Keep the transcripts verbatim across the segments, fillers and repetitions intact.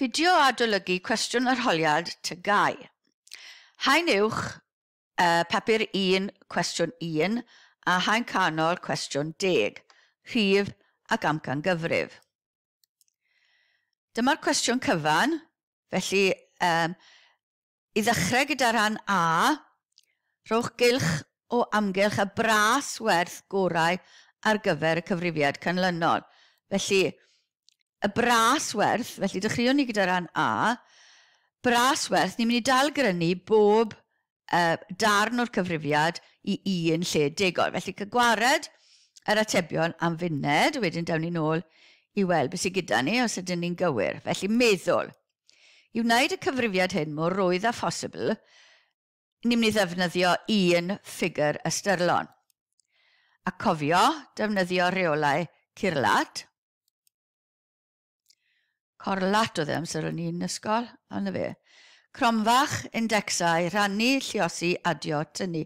Fideo adolygu cwestiwn arholiad T G A U. Haen uwch, uh, papur un, cwestiwn un, a haen canol cwestiwn deg, rhif ac amcangyfrif. Dyma'r cwestiwn cyfan, felly um, i ddechrau gyda rhan A, rhowch gylch o amgylch y bras werth gorau ar gyfer y cyfrifiad canlynol. Felly, y bras werth, felly dechreuwn ni gyda rhan A, bras werth, ni'n mynd i dal grynu bob uh, darn o'r cyfrifiad i un lle degol. Felly, cael gwared yr atebion am funed, wedyn dawn ni nôl i weld beth sydd gyda ni os ydyn ni'n gywir. Felly, meddwl. I wneud y cyfrifiad hyn mor rwydd â phosibl, ni'n mynd i ddefnyddio un ffigur ystyrlon. A cofio, defnyddio rheolau Curlat. Corlat oedd e amser o'n i'n ysgol, ond fe. Cromfach, indexau, rhannu, lluosi, adio, tynnu.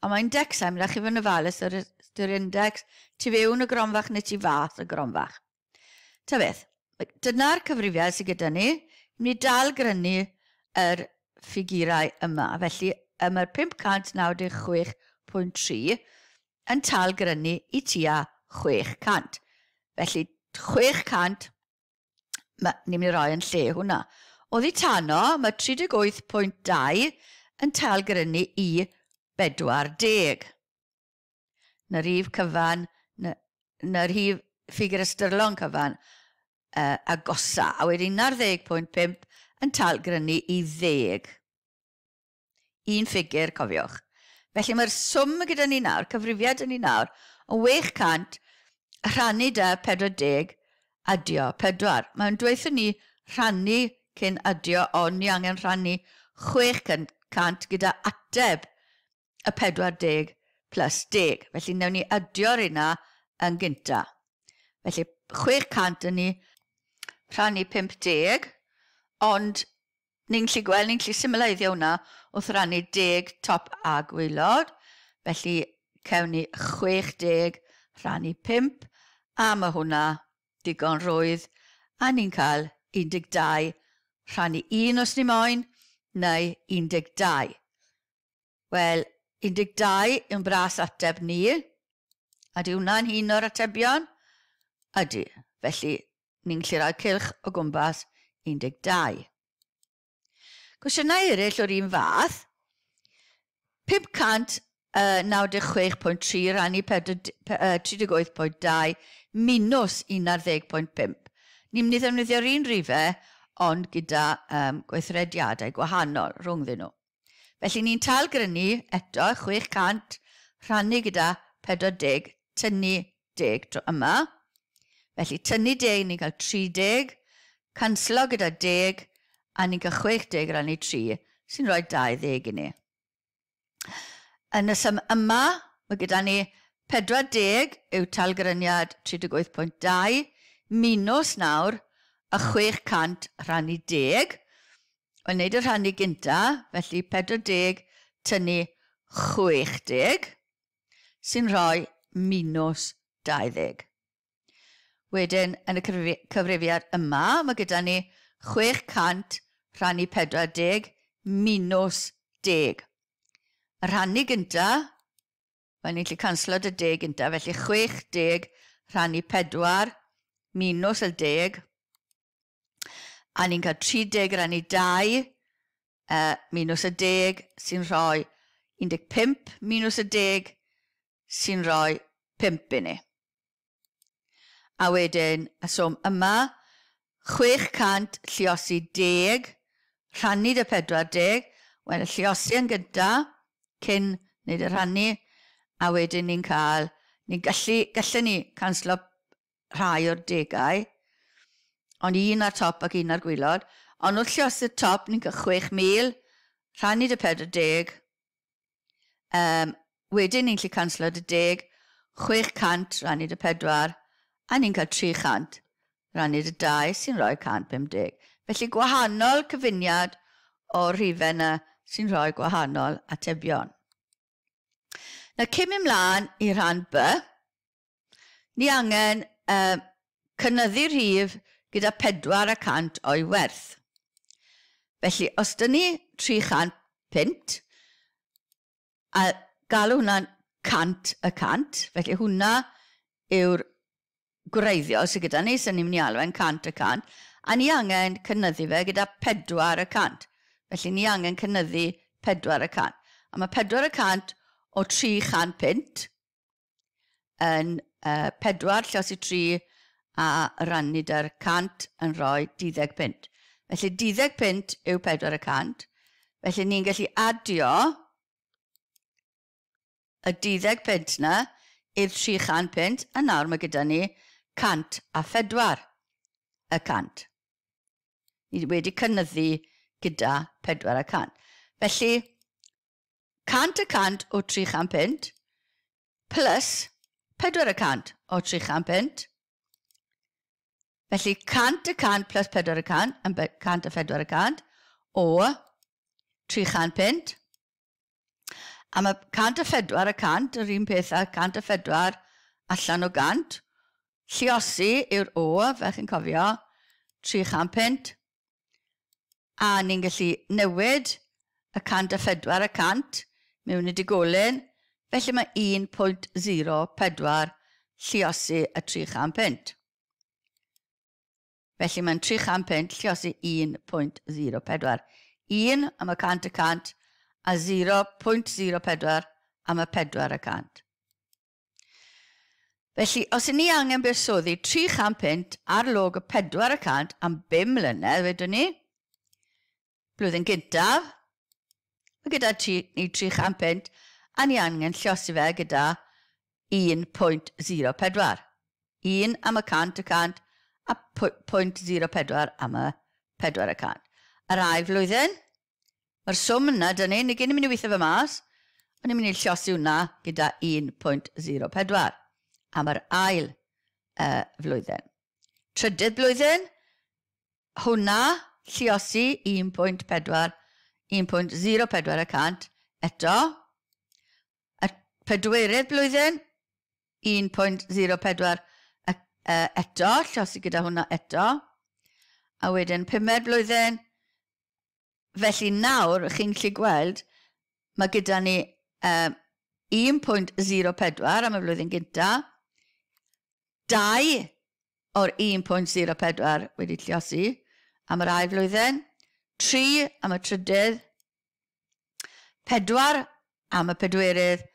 A mae indexau, mae'n rhaid chi fod yn ofalus yr, yr index tu fewn y gromfach neu tu fas y gromfach. Ta beth, dyna'r cyfrifiad sydd gyda ni. Ni'n mynd i dal grynu yr ffigurau yma. Felly, mae'r pump cant naw deg chwech pwynt tri yn tal grynu i tua chwech cant. Felly, chwech cant ni'n mynd i roi yn lle hwnna. Oddi tano, mae tri deg wyth pwynt dau yn tal grynu i bedwar deg. Na rhif cyfan, na, na rhif ffigur ystyrlon cyfan uh, agosa. A wedyn un ar ddeg pwynt pump yn tal grynu i ddeg. Un ffigur, cofiwch. Felly mae'r swm gyda ni nawr, cyfrifiad ni nawr, yn wech cant rhannu da pedwar deg adio pedwar. Mae'n dweud ni rhannu cyn adio, ond ni angen rhannu chwech cant gyda ateb y pedwar deg plus deg. Felly wnawn ni adio'r yna yn gynta. Felly chwech cant yn ni rhannu pump deg, ond ni'n gallu gweld, ni'n gallu symleiddio hwnna wrth rannu deg top a gwaelod. Felly cewn ni chwech deg rhannu pump, a mae hwnna digon rwydd, a ni'n cael un deg dau rhannu un os ni moyn, neu un deg dau. Wel, un deg dau yw'n bras ateb ni, a di hwnna'n un o'r atebion? Ydy, felly ni'n gallu rhoi cylch o gwmpas un deg dau. Cwestiynau eraill o'r un fath, pump cant naw deg chwech pwynt tri rannu tri deg wyth pwynt dau minus un ar ddeg pwynt pump. Ni'n mynd i ddefnyddio'r un rhifau, ond gyda um, gweithrediadau gwahanol rhwngddyn nhw. Felly ni'n tal grynu eto chwech cant rhannu gyda pedwar deg, tynnu deg tro yma. Felly tynnu deg, ni'n cael tri deg, canslo gyda deg, a ni'n cael chwech deg rannu tri, sy'n rhoi dau ddeg i ni. Yn y sum yma, mae gyda ni pedwar deg yw talgryniad tri deg wyth pwynt dau, minus nawr y chwech cant rhannu deg. Wel, wneud y rhannu gynta, felly pedwar deg tynnu chwech deg, sy'n rhoi minus dau ddeg. Wedyn, yn y cyfrifiad yma, mae gyda ni chwech cant rhannu pedwar deg minus deg. Y rhannu gynta, wel ni'n gallu canslo dy deg gynta, felly chwech deg rhannu pedwar minus y deg, a ni'n cael tri deg rannu dau uh, minus y deg sy'n rhoi un deg pump minus y deg sy'n rhoi pump i ni. A wedyn, y swm yma, chwech cant lluosi deg, rhannu dy pedwar deg, wel y lluosi yn gynta, cyn wneud y rhannu, a wedyn ni'n cael, ni'n gallu, gallu ni canslo rhai o'r degau, ond un ar top ac un ar gwaelod, ond wrth lluosi'r top ni'n cael chwech mil, rhannu dy pedwar deg, um, wedyn ni'n gallu canslo dy deg, chwech cant rhannu dy pedwar, a ni'n cael tri chant rhannu dy dau sy'n rhoi cant pum deg. Felly gwahanol cyfuniad o'r rhifau yna sy'n rhoi gwahanol atebion. Na cyn mynd mlaen i rhan B, ni angen uh, cynyddu rhif gyda pedwar y cant o'i werth. Felly, os dyn ni tri chant punt, a galw hwnna'n cant y cant, felly hwnna yw'r gwreiddiol sydd gyda ni, sy'n ni'n mynd i alw e'n cant y cant, a ni angen cynyddu fe gyda pedwar y cant. Felly ni angen cynyddu pedwar y cant. A mae pedwar y cant o tri chant punt yn uh, pedwar llosi tri a rannu da'r cant yn rhoi deuddeg punt. Felly deuddeg punt yw pedwar y cant. Felly ni'n gallu adio y deuddeg punt na i'r tri chant punt, a nawr mae gyda ni cant a phedwar y cant. Ni wedi cynyddu gyda pedwar y cant. Felly, cant y cant o tri chant punt plus pedwar y cant o tri chant punt. Felly, cant y cant plus pedwar y cant, yn cant a phedwar y cant, o tri chant punt. A mae cant a phedwar y cant, yr un peth â cant a phedwar allan o gant. Lluosi yw'r o, fel chi'n cofio, tri chant punt. A ni'n gallu newid y cant a phedwar y cant mewn i digolyn. Felly mae un pwynt zero pedwar lluosi y tri chant punt. Felly mae'n tri chant punt lluosi un pwynt zero pedwar. un am y cant y cant a zero pwynt zero pedwar am y pedwar y cant. Felly, os 'y ni angen buddsoddi tri chant punt ar log y pedwar y cant am bum mlynedd, wedwn ni, blwyddyn gyntaf, mae gyda ti, ni tri chant punt, a ni angen lluosi fe gyda un pwynt zero pedwar. un am y cant y cant a pwynt zero pedwar am y pedwar y cant. Yr ail flwyddyn, mae'r swm yna, dyn ni, ni gyn i'n mynd i weithio fe mas, ond ni'n mynd i lluosi hwnna gyda un pwynt zero pedwar am yr ail uh, flwyddyn. Trydydd blwyddyn, hwnna lluosi un pwynt pedwar, un pwynt zero pedwar y cant eto. Y pedwerydd blwyddyn, un pwynt zero pedwar eto, lluosi gyda hwnna eto. A wedyn pumed blwyddyn, felly nawr chi'n gallu gweld, mae gyda ni um, un pwynt zero pedwar am y flwyddyn gynta, dau o'r un pwynt zero pedwar wedi lluosi am yr ail flwyddyn, tri am y trydydd, pedwar am y pedwerydd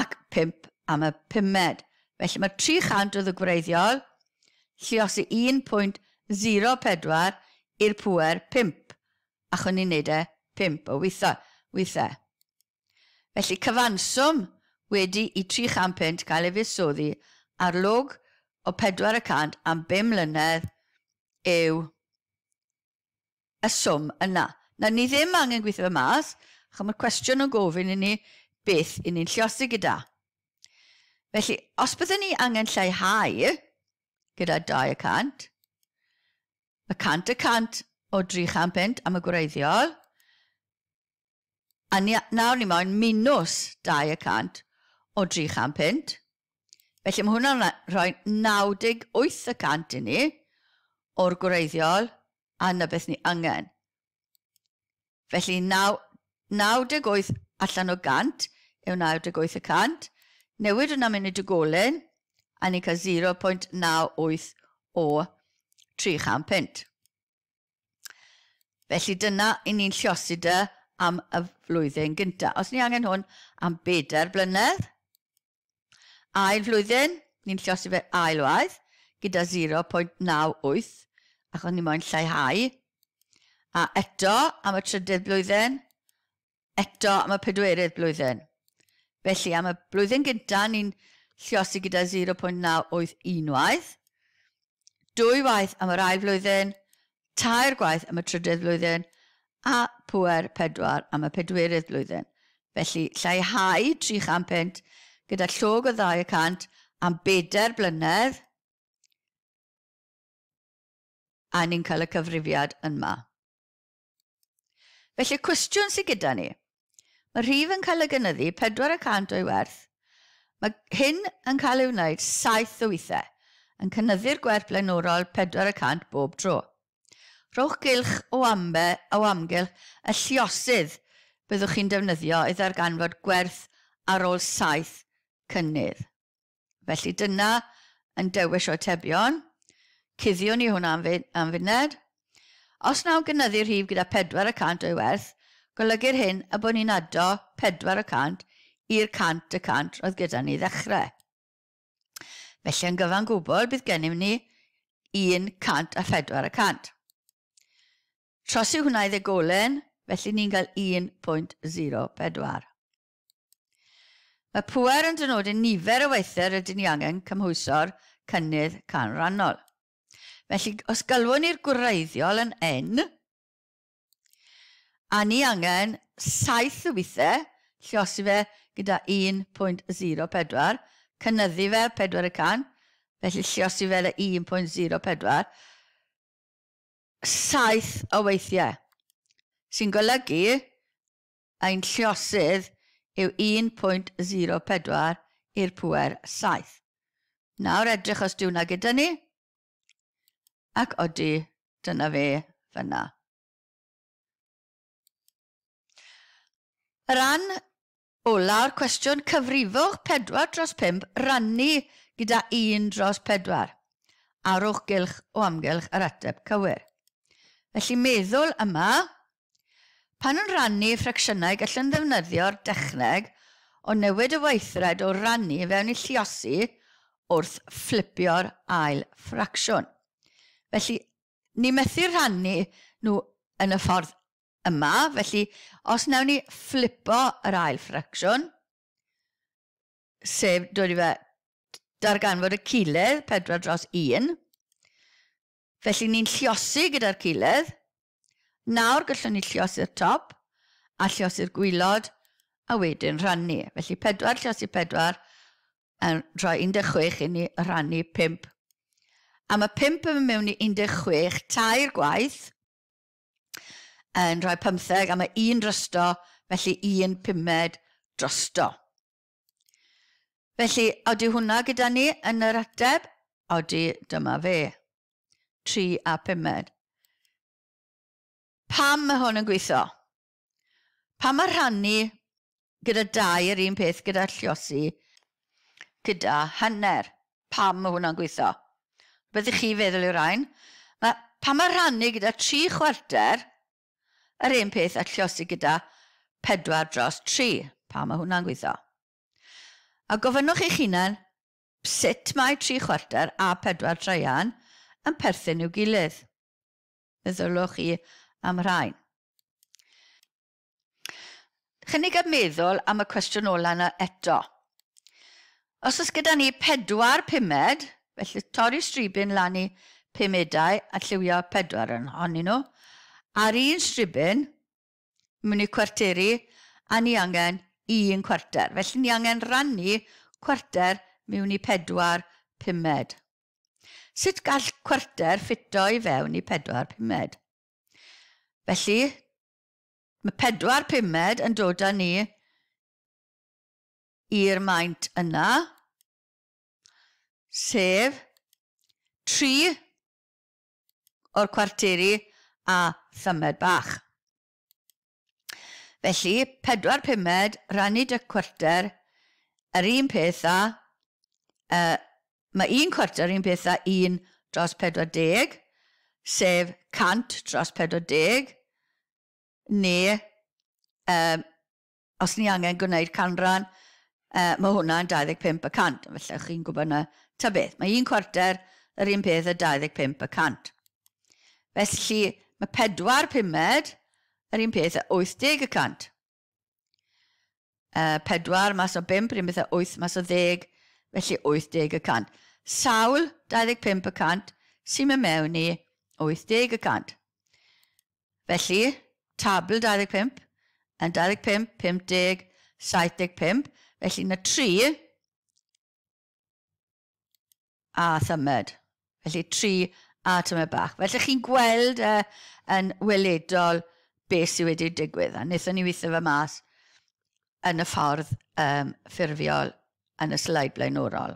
ac pump am y pumed. Felly mae tri chant oedd y gwreiddiol, lluosi un pwynt zero pedwar i'r pŵer pump, ac o'n i'n neud e pump o weithiau. weithiau. Felly cyfanswm wedi i tri chant punt cael ei fuddsoddi ar log o pedwar y cant am bum mlynedd yw y swm yna. Na, ni ddim angen gweithio fe mas, achos mae'r cwestiwn yn gofyn i ni beth i ni'n lluosi gyda. Felly, os byddwn ni angen lleihau gyda dau y cant, mae cant y cant o dri chant punt am y gwreiddiol, a ni, nawr ni moyn minws dau y cant o dri chant punt. Felly mae hwnna'n rhoi naw deg wyth y cant i ni o'r gwreiddiol, a na beth ni angen. Felly naw, naw deg wyth allan o gant yw naw deg wyth y cant. Newid hwnna mewn i dugolyn, a ni'n cael zero pwynt naw wyth o tri chant punt. Felly dyna i ni'n lluosi dy am y flwyddyn gyntaf. Os ni angen hwn am bedair blynedd, ail flwyddyn, ni'n lluosi fe ail waith gyda zero pwynt naw wyth, achos ni moyn lleihau. A eto am y trydydd blwyddyn, eto am y pedwerydd blwyddyn. Felly am y blwyddyn gyntaf, ni'n lluosi gyda zero pwynt naw wyth unwaith, dwy waith am yr ail flwyddyn, tair gwaith am y trydydd flwyddyn, a pŵer pedwar am y pedwerydd blwyddyn. Felly lleihau tri chant punt gyda llog o ddau y cant am bedair blynedd, a ni'n cael y cyfrifiad yma. Felly cwestiwn sydd gyda ni. Mae rhif yn cael ei gynyddu pedwar y cant o'i werth. Mae hyn yn cael ei wneud saith o weithiau. yn cynyddu'r gwerth blaenorol pedwar y cant bob tro. Rhowch gylch o, ambe, o amgylch y lluosydd byddwch chi'n defnyddio i ddarganfod gwerth ar ôl saith cynnydd. Felly dyna yn dewis o atebion. Cuddiwn ni hwnna am, am funed. Os nawn gynyddu'r rhif gyda pedwar y cant o'i werth, golygu'r hyn y bod ni'n ado pedwar y cant i'r cant y cant roedd gyda ni ddechrau. Felly yn gyfan gwbl bydd gennym ni un cant a phedwar y cant. Trosi hwnna i ddegolen, felly ni'n cael un pwynt zero pedwar. Mae pŵer yn dynodi nifer o weithiau rydyn ni angen cymhwyso'r cynnydd canrannol. Felly, os galwwn ni'r gwreiddiol yn N, a ni angen saith o weithiau, lluosi fe gyda un pwynt zero pedwar, cynyddu fe pedwar y cant, felly lluosi fe le un pwynt zero pedwar, saith o weithiau, sy'n golygu ein lluosydd yw un pwynt zero pedwar i'r pŵer saith. Nawr edrych os dyw hwnna gyda ni, ac odi, dyna fe fyna. Rhan ola'r cwestiwn, cyfrifwch pedwar dros pump rannu gyda un dros pedwar. Arwch gylch o amgylch yr ateb cywir. Felly meddwl yma, pan yn rannu ffracsiynau gallwn ddefnyddio'r dechneg o newid y weithred o rannu fewn i lluosi wrth fflipio'r ail ffracsiwn. Felly, ni methu rhannu nhw yn y ffordd yma, felly os wnawn ni fflipo yr ail ffracsiwn, sef dod i fe darganfod y cilydd, pedwar dros un, felly ni'n lluosi gyda'r cilydd. Nawr gallwn ni lluosi'r top a lluosi'r gwaelod a wedyn rhannu. Felly pedwar lluosi pedwar yn rhoi un deg chwech i ni rhannu pump. A mae pump yn mynd mewn i un deg chwech tair gwaith yn rhoi pymtheg, a mae un drosto, felly un pumed drosto. Felly, odi hwnna gyda ni yn yr ateb? Odi, dyma fe. Tri a pumed. Pam mae hwn yn gweithio? Pam mae rhannu gyda dau yr un peth gyda lluosi gyda hanner? Pam mae hwnna'n gweithio? Byddwch chi feddwl i'r rhain? Mae, pam mae rhannu gyda tri chwarter yr un peth a lluosi gyda pedwar dros tri? Pam mae hwnna'n gweithio? A gofynnwch eich hunan sut mae tri chwarter a pedwar traean yn perthyn i'w gilydd. Meddylwch chi am rhain. Chynnig a meddwl am y cwestiwn ola yna eto. Os oes gyda ni pedwar pumed, felly torri stribyn lan i pumedau a lliwio pedwar yn ohonyn nhw, ar un stribyn, mewn i cwarteri, a ni angen un cwarter. Felly ni angen rannu cwarter mewn i pedwar pumed. Sut gall cwarter ffito i fewn i pedwar pumed? Felly, mae pedwar pumed yn dod â ni i'r maint yna, sef tri o'r cwarteri a thymed bach. Felly, pedwar pumed rannu dy cwarter, yr un peth â, uh, mae un cwarter un peth â un dros pedwar deg, sef cant dros pedwar deg, neu um, os ni angen gwneud canran, uh, mae hwnna'n dau ddeg pump y cant. Felly chi'n gwybod na ta beth. Mae un cwarter yr un peth â dau ddeg pump y cant. Felly mae pedwar pumed yr un peth â wyth deg y cant. Uh, pedwar mas o bump, yr un peth â wyth mas o ddeg, felly wyth deg y cant. Sawl dau ddeg pump y cant sy'n mynd mewn i wyth deg y cant. Felly, tabl dau ddeg pump yn dau ddeg pump, pump deg, saith deg pump, felly na tri a thymed. Felly tri a tymed bach. Felly chi'n gweld uh, yn weledol beth sydd wedi digwydd. A wnaethon ni weithio fe mas yn y ffordd um, ffurfiol yn y sleid blaenorol.